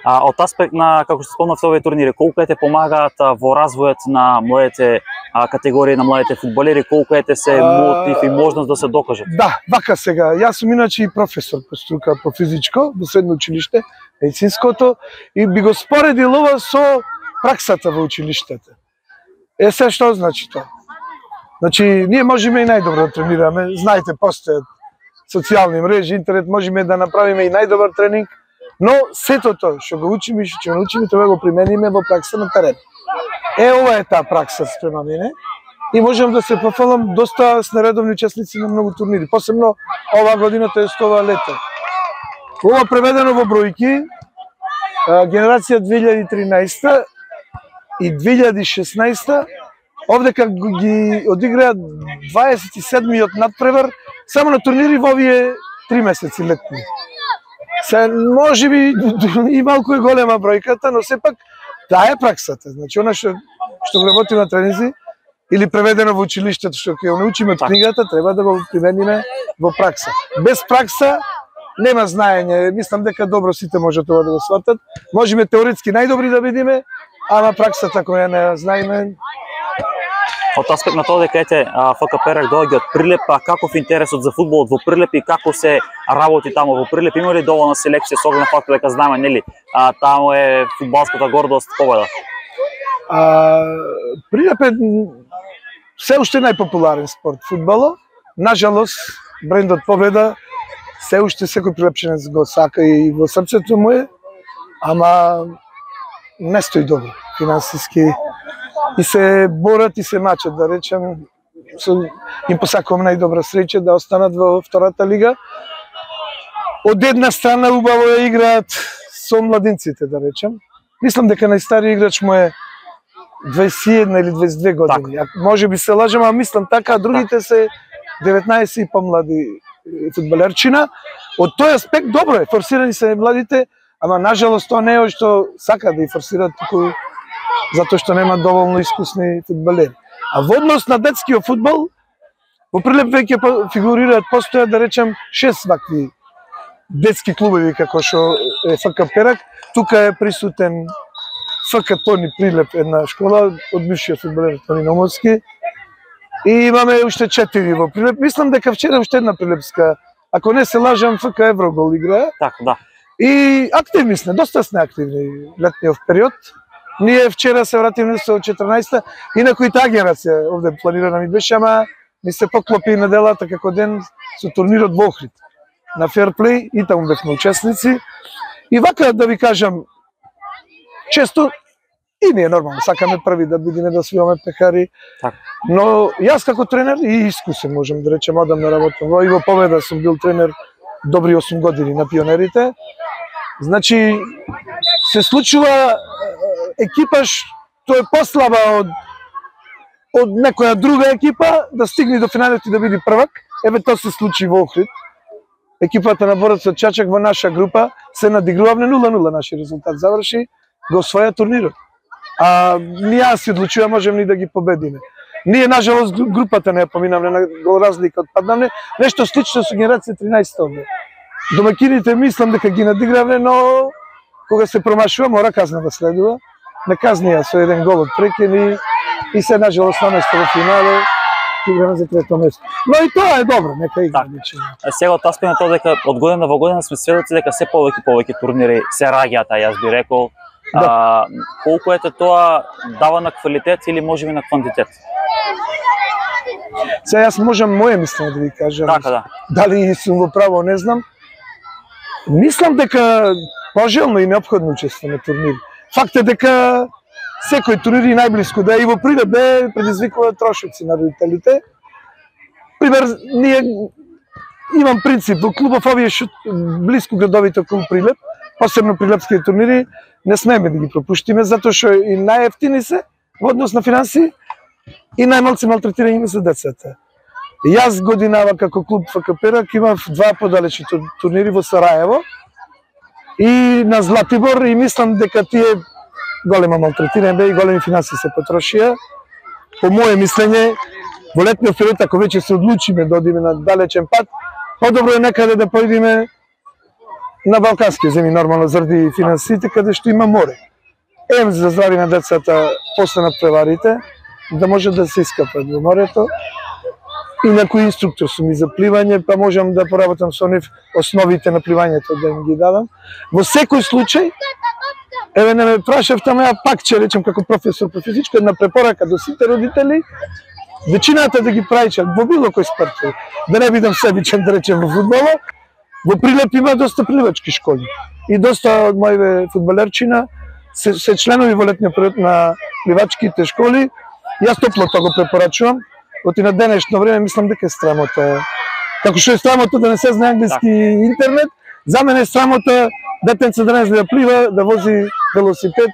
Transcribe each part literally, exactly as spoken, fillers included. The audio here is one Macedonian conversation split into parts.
А, од аспект на, како што спомнавте, овие турнири, колку те помагаат во развојот на младите а, категории на младите фудбалери, колку ете се мотив и можност да се докажат? Да, вака сега. Јас сум иначе и професор по струка по физичко во средно училиште, медицинското, и би го споредил ова со праксата во училиштата. Е, се што значи тоа? Значи, ние можеме и најдобро да тренираме, знаете, постојат социјални мрежи, интернет, можеме да направиме и најдобар тренинг, но сето тоа што го учиме и што научиме треба да го примениме во пракса на терен. Е, ова е таа пракса спрема мене и можам да се пофалам доста с нередовни учесници на многу турнири, посебно оваа година, тоа е ова лето. Ова преведено во бројки, генерација две илјади и тринаесета и две илјади и шеснаесета, овдека ги одиграат дваесет и седмиот надпревар само на турнири во овие три месеци летни. Се, може би и малку е голема бројката, но сепак таа е праксата. Значи, она што, што работи на тренинзи или преведено во училиштето, што ќе научиме од книгата, треба да го примениме во пракса. Без пракса нема знаење. Мислам дека добро сите може тоа да го сватат. Можеме теоретски најдобри да бидиме, ама праксата која не знаеме. Од аспект на тоа дека ете ФК Перак доаѓа од Прилеп, а каков интересот за фудбалот во Прилеп и како се работи таму во Прилеп? Има ли доволна селекција со оглед на фактот дека знаеме, нели, а, таму е фудбалската гордост Победа? А, Прилеп е се уште најпопуларен спорт фудбало. Нажалост, брендот Победа се уште секој прилепченец го сака и во срцето му е, ама не стои добро финансиски. И се борат и се мачат, да речем, им посакувам најдобра среќа да останат во втората лига. Од една страна убаво ја играат со младинците, да речем. Мислам дека најстариот играч му е дваесет и една или дваесет и две години. Так. Може би се лажам, а мислам така, а другите се деветнаесет и помлади фудбалерчина. Од тој аспект добро е, форсирани се младите, ама нажалост тоа не е што сака да и форсират туку затоа што нема доволно искусни фудбалери. А во однос на детскиот фудбал, во Прилеп веќе фигурираат, постојат, да речем, шест вакви детски клубови како што е ФК Перак. Тука е присутен ФК Тони Прилеп, една школа од бившиот фудбалер Тони Номовски. И имаме уште четири во Прилеп. Мислам дека вчера уште една прилепска, ако не се лажам, ФК Еврогол играе. Така, да. И активни сме, доста сме активни летниот период. Ние вчера се вративме со четрнаесета, инаку и таа генерација овде планирана ми беше, ама ми се поклопи неделата како ден со турнирот во Охрид на Ферплей и таму бевме учесници. И вака да ви кажам, често и ние нормално сакаме први да бидеме да свиваме пекари. Так. Но јас како тренер и искусен можам да речем, одам на работа. И во Победа сум бил тренер добри осум години на пионерите. Значи се случува екипа што е послаба од од некоја друга екипа да стигне до финалот и да биде првак. Еве тоа се случи во Охрид. Екипата на Борац од Чачак во наша група се надигрувавме нула нула, нашиот резултат заврши, го освоја турнирот. А ние си одлучува можеме ни да ги победиме. Ние нажалост групата не ја поминавме, на гол разлика отпаднавме. Нешто слично со генерација тринаесет овде. Домакините мислам дека ги надигравме, но кога се промашува мора казна да следува. Не казнија со еден гол од прекен и, и се нажалост наместо во финале играме за трето место. Но и тоа е добро, нека игра. Так. Сега од аспект на тоа дека од година во година сме сведоци дека се повеќе повеќе турнири се раѓаат, а јас би рекол, да. А, колку ете тоа дава на квалитет или можеби на квантитет? Сега јас можам моје мислење да ви кажам. Така, да. Дали сум во право, не знам. Мислам дека пожелно и неопходно учество на турнири. Факт е дека секој турнир и најблиску да е и во Прилеп бе предизвикува трошоци на родителите. Пример, ние имам принцип во клубов овие шут, блиску градовите околу Прилеп, посебно прилепските турнири, не смееме да ги пропуштиме, затоа што и најевтини се во однос на финанси и најмалци малтретирање за децата. Јас годинава како клуб ФК Перак имав два подалечни турнири во Сараево и на Златибор и мислам дека тие голема малтретирање бе и големи финанси се потрошија. По моје мислење, во летниот период, ако веќе се одлучиме да одиме на далечен пат, подобро е некаде да поидиме на балкански земји нормално заради финансите каде што има море. Ем за здрави на децата после на преварите да може да се искапат во морето. И некој инструктор сум и за пливање, па можам да поработам со нив основите на пливањето да им ги дадам. Во секој случај, еве не ме прашав тamo, ја пак ќе речем како професор по физичко, една препорака до сите родители, вечината да ги прајчат во било кој спорт. Да не бидам себичен да речем во фудбалот, во Прилеп има доста пливачки школи. И доста од моите фудбалерчина се, се членови во летниот период на пливачките школи. Јас топло тоа го препорачувам. Оти на денешно време мислам дека е срамота. Како што е срамота да не се знае англиски интернет, за мене е срамота детенце да не знае да плива, да вози велосипед,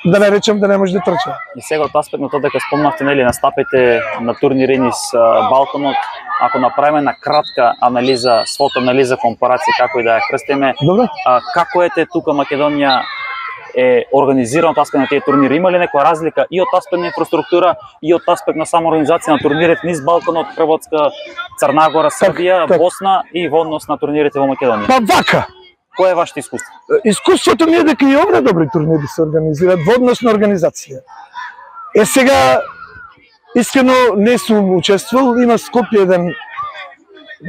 да не речем да не може да трча. И сега од аспект на тоа дека спомнавте нели настапите на турнири низ Балканот, ако направиме на кратка анализа, свото анализа, компарација како и да ја крстиме, како ете тука Македонија е организирано од аспект на тие турнири? Има ли некоја разлика и од аспект на инфраструктура и од аспект на само организација на турнирите низ Балканот, Хрватска, Црнагора, Србија, так, так. Босна и во однос на турнирите во Македонија? Па вака! Кој е вашето искуство? Искуството ми е дека и овде добри турнири се организираат во однос на организација. Е сега, искрено не сум учествувал, има Скопје еден,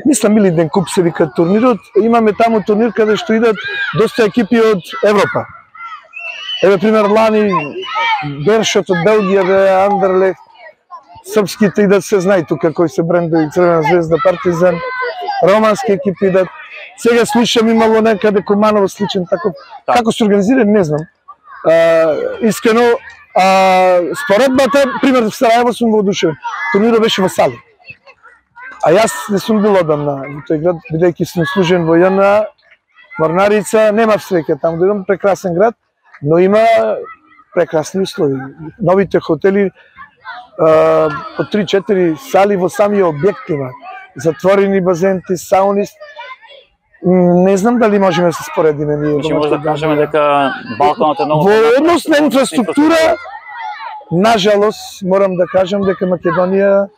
мислам или ден куп се вика турнирот, имаме таму турнир каде што идат доста екипи од Европа. Еве пример лани Бершот од Белгија, бе Андерлехт, српските идат, се знае тука кои се брендови, Црвена звезда, Партизан, романски екипи идат. Сега слушам имало некаде Куманово сличен таков. Так. Како се организира, не знам. А, искрено, а, споредбата, пример в Сараево сум воодушевен. Турнирот беше во Сали. А јас не сум бил одамна во тој град, бидејќи сум служен во ЈНА, Морнарица, немав среќа таму да идам, прекрасен град, но има прекрасни услови. Новите хотели а, по три-четири сали во самиот објект има. Затворени базенти, сауни. Не знам дали можеме да се споредиме ние. Значи може да кажеме дека Балканот е многу. Во однос на инфраструктура, нажалост, морам да кажам дека Македонија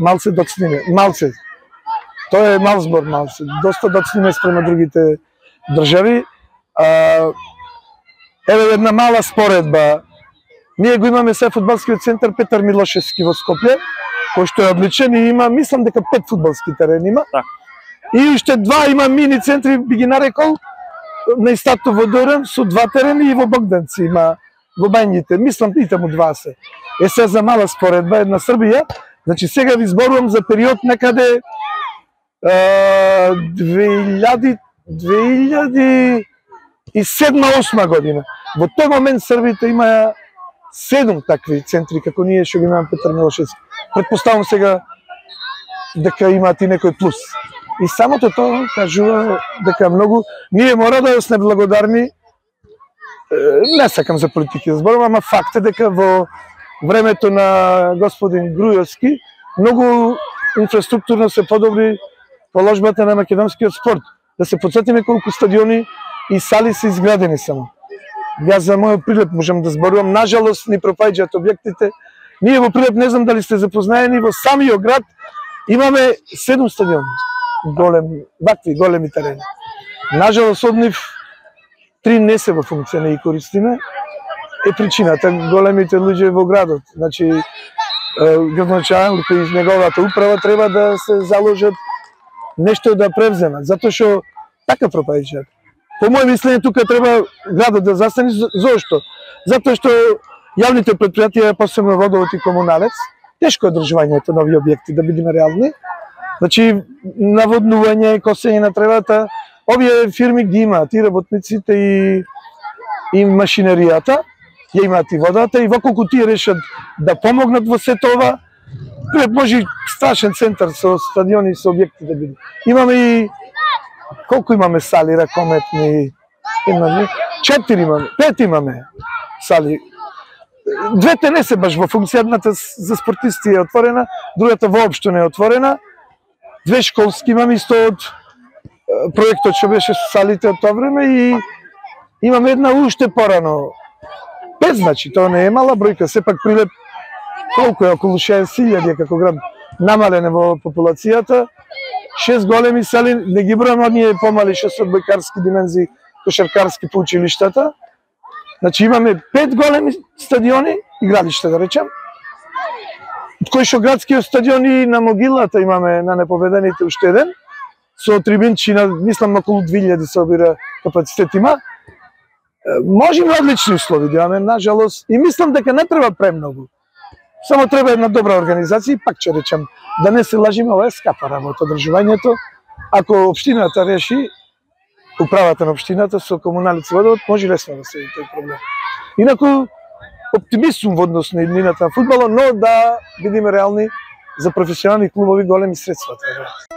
малце доцниме. Малце. Тоа е мал збор, малце. Доста доцниме спрема другите држави. А, еве една мала споредба. Ние го имаме се фудбалскиот центар Петар Милошевски во Скопје, кој што е одличен и има, мислам дека пет фудбалски терени има. Так. И уште два има мини центри, би ги нарекол, на истато во Доран, со два терени и во Богданци има, во Бањите. Мислам и таму два се. Е се за мала споредба, една Србија. Значи сега ви зборувам за период некаде две илјади и седма-осма година. Во тој момент Србите има седум такви центри, како ние што ги имаме Петар Милошевски. Предпоставам сега дека имаат и некој плюс. И самото тоа кажува дека многу ние мора да сме благодарни. Не сакам за политики да зборувам, ама факт е дека во времето на господин Грујовски многу инфраструктурно се подобри положбата на македонскиот спорт. Да се потсетиме колку стадиони и сали се изградени само. Јас за мојот Прилеп можам да зборувам, нажалост ни пропаѓаат објектите. Ние во Прилеп, не знам дали сте запознаени, во самиот град имаме седум стадиони. Голем, вакви големи терени. Нажалост од нив три не се во функција, не ги користиме. Е причината големите луѓе во градот. Значи, градоначалникот и неговата управа треба да се заложат нешто да превземат, затоа што така пропаѓаат. По моје мислење тука треба градот да застане. Зошто? Затоа што јавните предпријатија, посебно водовод и комуналец, тешко е одржувањето на овие објекти, да бидеме реални. Значи, наводнување, косење на тревата, овие фирми ги имаат и работниците и, и машинеријата, ја имаат и водата, и воколку тие решат да помогнат во сето ова, може страшен центар со стадиони и со објекти да биде. Имаме и колку имаме сали ракометни? Имаме четири имаме, пет имаме сали. Двете не се баш во функција, едната за спортисти е отворена, другата воопшто не е отворена. Две школски имаме исто од проектот што беше со салите од тоа време и имаме една уште порано. Пет, значи, тоа не е мала бројка, сепак Прилеп колку е, околу шеесет илјади како град, намален во популацијата шест големи сали, не ги бројам оние помали што се од бојкарски димензии, кошаркарски по училиштата. Значи имаме пет големи стадиони, игралишта да речем, од кои што градскиот стадион и на Могилата имаме на непобедените уште еден, со трибинчи на, мислам, околу две илјади се обира капацитет има. Можеме одлични услови да имаме, нажалост, и мислам дека не треба премногу. Само треба една добра организација и пак ќе речем, да не се лажиме, ова е скапа работа, одржувањето. Ако општината реши, управата на општината со комуналици водовод, може лесно да се тој проблем. Инаку, оптимист сум во однос на иднината на фудбалот, но да бидеме реални, за професионални клубови големи средства треба.